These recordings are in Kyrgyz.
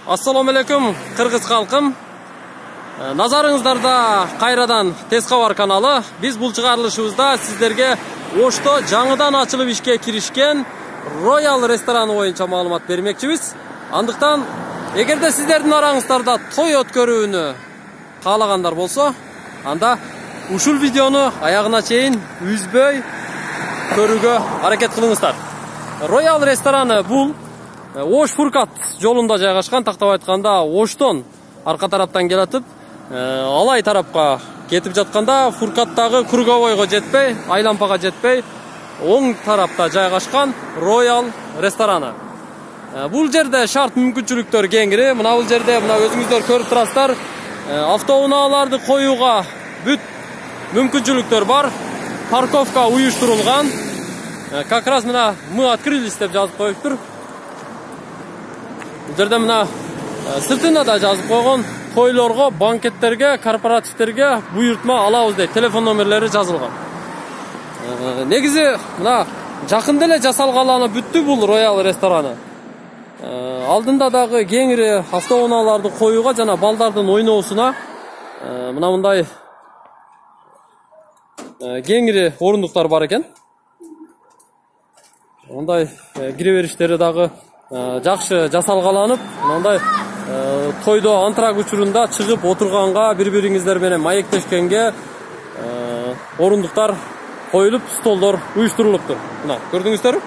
Assalomu alaykum Qirg'iz xalqim. Nazarыңыздарда кайрадан Tez Xabar каналы. Биз бул чыгарылышыбызда сиздерге Ошто жаңыдан ачылып ишке киришкен Royal рестораны боюнча маалымат бермекчибиз. Андыктан, эгерде сиздердин араңыздарда той өткөрүүнү каалагандар болсо, анда ушул видеону аягына чейин үзбөй көрүүгө аракет кылыңыздар. Royal рестораны бул Ош-Фуркат жолунда жайгашкан, тактап айтканда Оштон арка тараптан келатып, Алай тарапка кетип жатканда Фуркаттагы круговойго жетпей, Айлампага жетпей, оң тарапта жайгашкан Royal рестораны. Бул жерде шарт мүмкүнчүлүктөр кеңири. Мына бул жерде мына өзүңүздөр көрүп турасыздар, автоунааларды коюуга бүт мүмкүнчүлүктөр бар. Парковка уюштурулган. Как раз мына мы открылись деп жазып коюптур. Бул жерде мына сыртына да жазып койгон, тойлорго, банкеттерге, корпоративтерге буйртма алабыз дейт. Телефон номерлери жазылган. Негизи мына жакында эле жасалгаланы бүттү бул Royal рестораны. Алдында дагы кеңири автоунааларды коюуга жана балдардын ойноосуна мына мындай кеңири орундуктар бар экен. Мындай кире бериштери дагы жакшы жасалгаланып, мындай тойдо антрак учурунда чыгып отурганга, бири-бириңиздер менен маектешкенге орундуктар коюлуп, столдор уюштурулуптур. Мына көрдүңүздөрбү?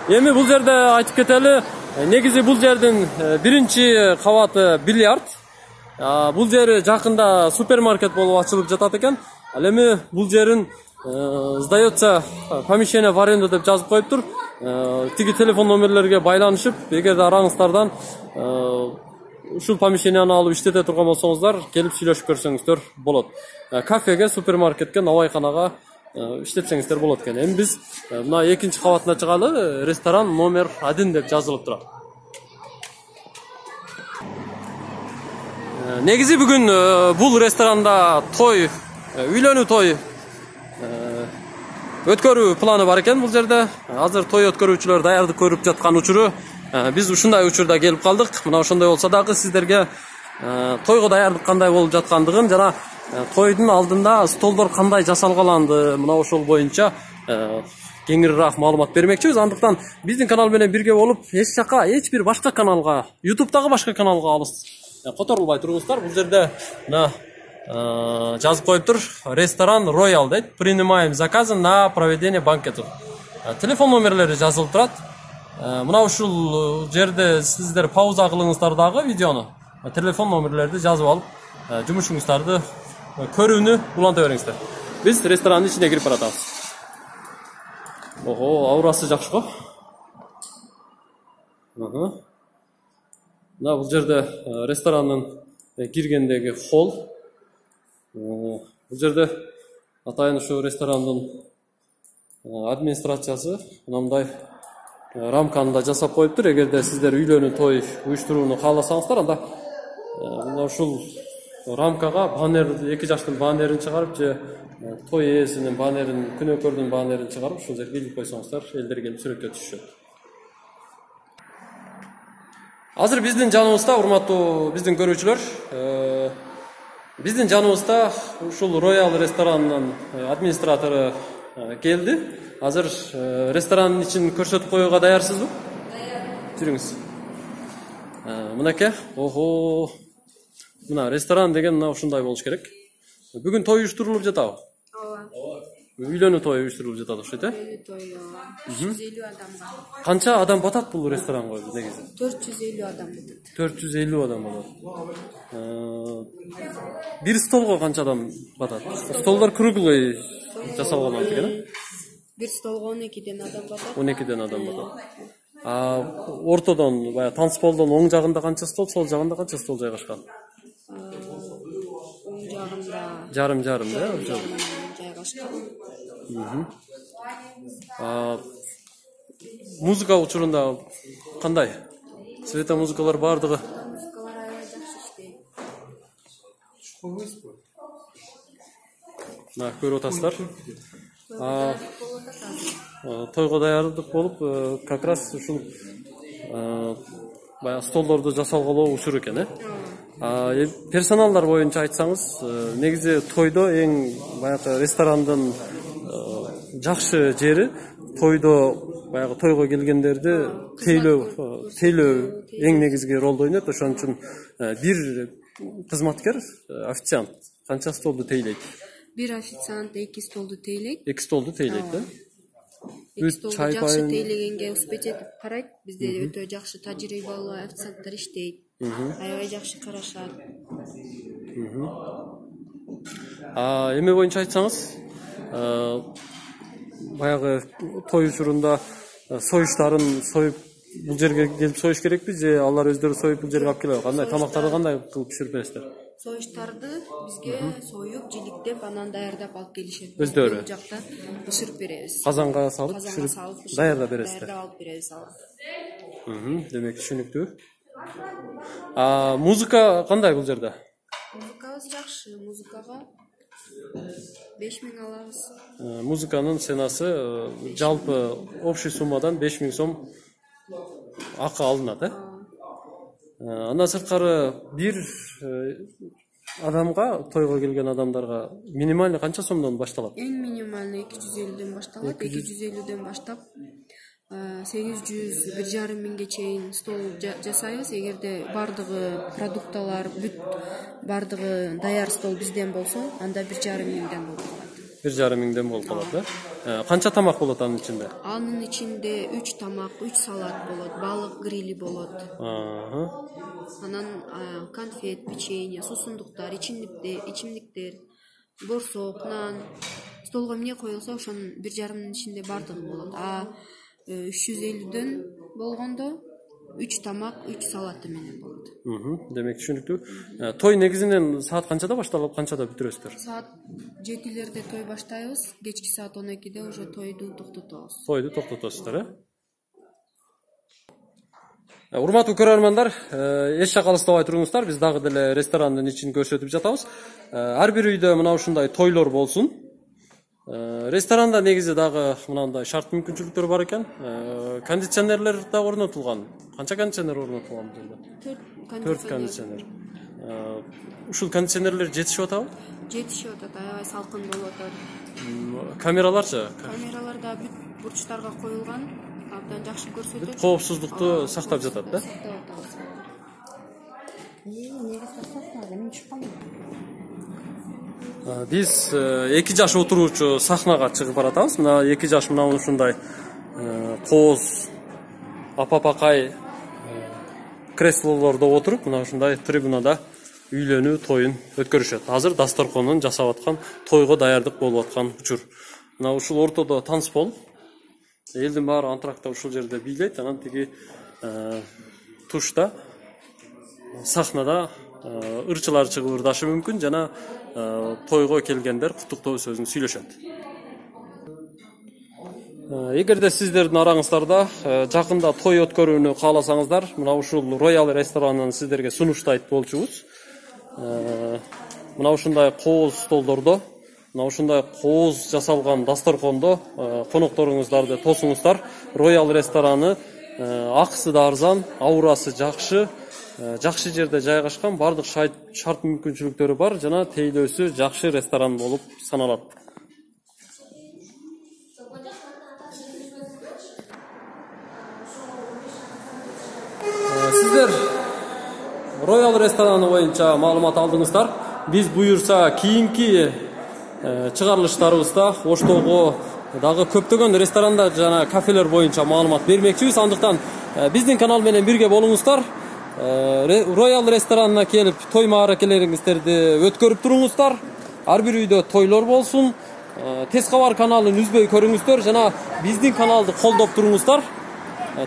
Эми бул жерде айтып кетели, негизи бул жердин биринчи кабаты бильярд. Бул жери жакында супермаркет болуп ачылып жатат экен. Ал эми бул жерин сдается помещение в аренду деп жазып коюптур. Тиги телефон номерлерге байланышып, эгерде араңыздардан ушул помещенияны алып иштете турган болсоңуздар, келип сүйлөшүп көрсөңүздөр болот. Кафеге, супермаркетке, навайканага иштетсеңиздер болот экен. Эми биз мына экинчи кабатына чыгалы, ресторан номер 1 деп жазылып турат. Негизи бүгүн бул ресторанда той, үйлөнүү той өткөрүү планы бар экен бул жерде. Азыр той өткөрүүчүлөр даярдык көрүп жаткан учуру биз ушундай учурда келип калдык. Мына ошондой болсо дагы сиздерге тойго даярдык кандай болуп жаткандыгын жана тойдун алдында столдор кандай жасалгаланды, мына ошол боюнча кеңирираак маалымат бермекчибиз. Андыктан биздин канал менен бирге болуп, эч жака, эч бир башка каналга, YouTube'дагы башка каналга алыс которулбай туруңуздар. Бул жерде мына жазып коюптур, ресторан Royal дейт. Принимаем заказы на проведение банкетов. Телефон номерлери жазылып турат. Мына ушул жерде сиздер пауза кылыңыздар дагы видеону. Телефон номерлерди жазып алып, жумушуңуздарды көрүүнү уланта бериңиздер. Биз ресторанын ичине кирип баратабыз. Ого, аурасы жакшы го. Мына бул жерде ресторанын киргендеги холл. Бул жерде атайын ушу ресторандын администрациясы мындай рамканы да жасап коюптур. Эгерде сиздер үйлөнүү той уюштурууну кааласаңыздар, анда мына ушул рамкага баннер, эки жаштын баннерин чыгарып же той ээсинин баннерин, күнөөкөрдүн баннерин чыгарып ушул жерге илип койсоңуздар, элдер келип сүрөткө түшүшөт. Азыр биздин жаныбызда, урматтуу биздин көрүүчүлөр, биздин жаныбызда ушул Royal ресторанынын администратору келди. Азыр ресторанын ичин көрсөтүп коюуга даярсызбы? Даяр. Жүрүңүз. Мынакей, ого. Мына ресторан деген мына ушундай болуш керек. Бүгүн той уюштурулуп жатабы? Ооба. Үйлөнүү той уюштурулуп жатат окшойт, э? Үйлөнүү той 350 адамга. Канча адам батат бул ресторанга негизи? 450 адам батат. 450 адам батат. Бир столго канча адам батат? Столдор круглый жасалган экен, э? Бир столго 12ден адам батат. 12ден адам батат. Ортодон, бая танцполдон оң жагында канча стол, сол жагында канча стол жайгашкан? Оң жагында жарым-жарым, да? Жайгашкан. Музыка учурунда кандай? Света музыкалар бардыгы? Музыкалар аябай жакшы иштейт. Мына көрүп атасыздар. Тойго даярдык болуп, как раз ушул баягы столдорду жасалгылоо учур экен, персоналдар боюнча айтсаңыз, негизи тойдо эң баягы ресторандын жакшы жери тойдо баягы тойго келгендерди тейлөө эң негизги ролду ойнойт. Ошон үчүн бир кызматкер, официант канча столду тейлейт? Бир официант 2 столду тейлейт. 2 столду тейлейт, да? 2 столду жакшы тейлегенге успеть этип карайт. Бизде өтө жакшы тажрыйбалуу официанттар иштейт. Аябай жакшы карашат. Эме боюнча айтсаңыз, баягы той учурунда союштарын союп бул жерге келип союш керекпи же алар өздөрү союп бул жерге алып келет? Кандай тамактарды кандай кылып пиширип бересиздер? Союштарды бизге союп, жиликтеп, анан даярдап алып келишет. Өздөрү Бул жакта бышырып беребиз. Казанга салып пиширип даярдап бересиздер. Даярдап алып беребиз алар. Демек түшүнүктүү. Музыка кандай бул жерде? Музыкабыз жакшы. Музыкага 5000 алабыз. Музыканын ценасы жалпы общий суммадан 5000 сом акы алынат, Андан сырткары бир адамга, тойго келген адамдарга минимальный канча сомдон башталат? Эң минимальный 250дөн башталат. 250дөн баштап 800-1,5 миңге чейин стол жасайбыз. Эгерде бардыгы продукталар, бардыгы даяр стол бизден болсо, анда 1,5 миңден болот. 1,5 миңден болуп калат, Канча тамак болот анын ичинде? Анын ичинде 3 тамак, 3 салат болот, балык грили болот. Анан конфет, печенье, сусундуктар, ичимдиктер, борсок, нан. Столго эмне коюлса, ошонун 1,5 миңдин ичинде бардыгы болот. 350дөн болгондо 3 тамак, 3 салаты менен болот. Демек түшүнүктүү. Той негизинен саат канчада башталып, канчада бүтүрөсүздөр? Саат 7-лерде той баштайбыз, кечки саат 12де уже тойду токтотобуз. Тойду токтотосуздар, Урматтуу көрөрмандар, эч жакка алыстабай туруңуздар. Биз дагы деле ресторандын ичин көрсөтүп жатабыз. Ар бир үйдө мына ушундай тойлор болсун. Ресторанда негизи дагы мынандай шарт мүмкүнчүлүктөр бар экен. Кондиционерлер да орнотулган. Канча кондиционер орнотулган бул жерде? 4 кондиционер. Ушул кондиционерлер жетишип атабы? Жетишип атат, аябай салкын болуп атат. Камераларчы? Камералар да бүт бурчтарга коюлган. Абдан жакшы көрсөтөт. Коопсуздукту сактап жатат, да? Сактап атабыз. Биз 2 жаш отуруучу сахнага чыгып баратабыз. Мына 2 жаш мына ушундай кооз апапакай креслолордо отуруп, мына ушундай трибунада үйлөнүү тоюн өткөрүшөт. Азыр дасторконун жасап аткан, тойго даярдык болуп аткан учур. Мына ушул ортодо танцпол. Элдин баары антракта ушул жерде бийлейт, анан тиги тушта сахнада ырчылар чыгып ырдашы мүмкүн жана тойго келгендер куттуктоо сөзүн сүйлөшөт. Эгерде сиздердин араңыздарда жакында той өткөрүүнү кааласаңыздар, мына ушул Royal ресторанын сиздерге сунуштайт болчубуз. Мына ушундай кооз столдордо, мына ушундай кооз жасалган дасторкондо конокторуңуздарды тосуңуздар. Royal рестораны акысы да арзан, аурасы жакшы, жакшы жерде жайгашкан, бардык шарт мүмкүнчүлүктөрү бар жана тейлөөсү жакшы ресторан болуп саналат. Сиздер Royal рестораны боюнча маалымат алдыңыздар. Биз буюрса кийинки чыгарылыштарыбызда Оштогу дагы көптөгөн ресторанда жана кафелер боюнча маалымат бермекчибиз. Андыктан биздин канал менен бирге болуңуздар. Royal ресторанына келип той мааракелериңиздерди өткөрүп туруңуздар. Ар бир үйдө тойлор болсун. Тез кабар каналын үзбөй көрүңүздөр жана биздин каналды колдоп туруңуздар.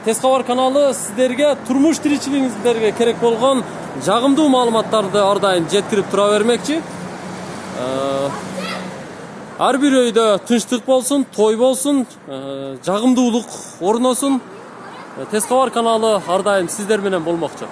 Тез кабар каналы сиздерге турмуш тиричилигиңиздерге керек болгон жагымдуу маалыматтарды ар дайым жеткирип тура бермекчи. Ар бир үйдө тынчтык болсун, той болсун, жагымдуулук орносун. Тез кабар каналы ар дайым сиздер менен болмокчу.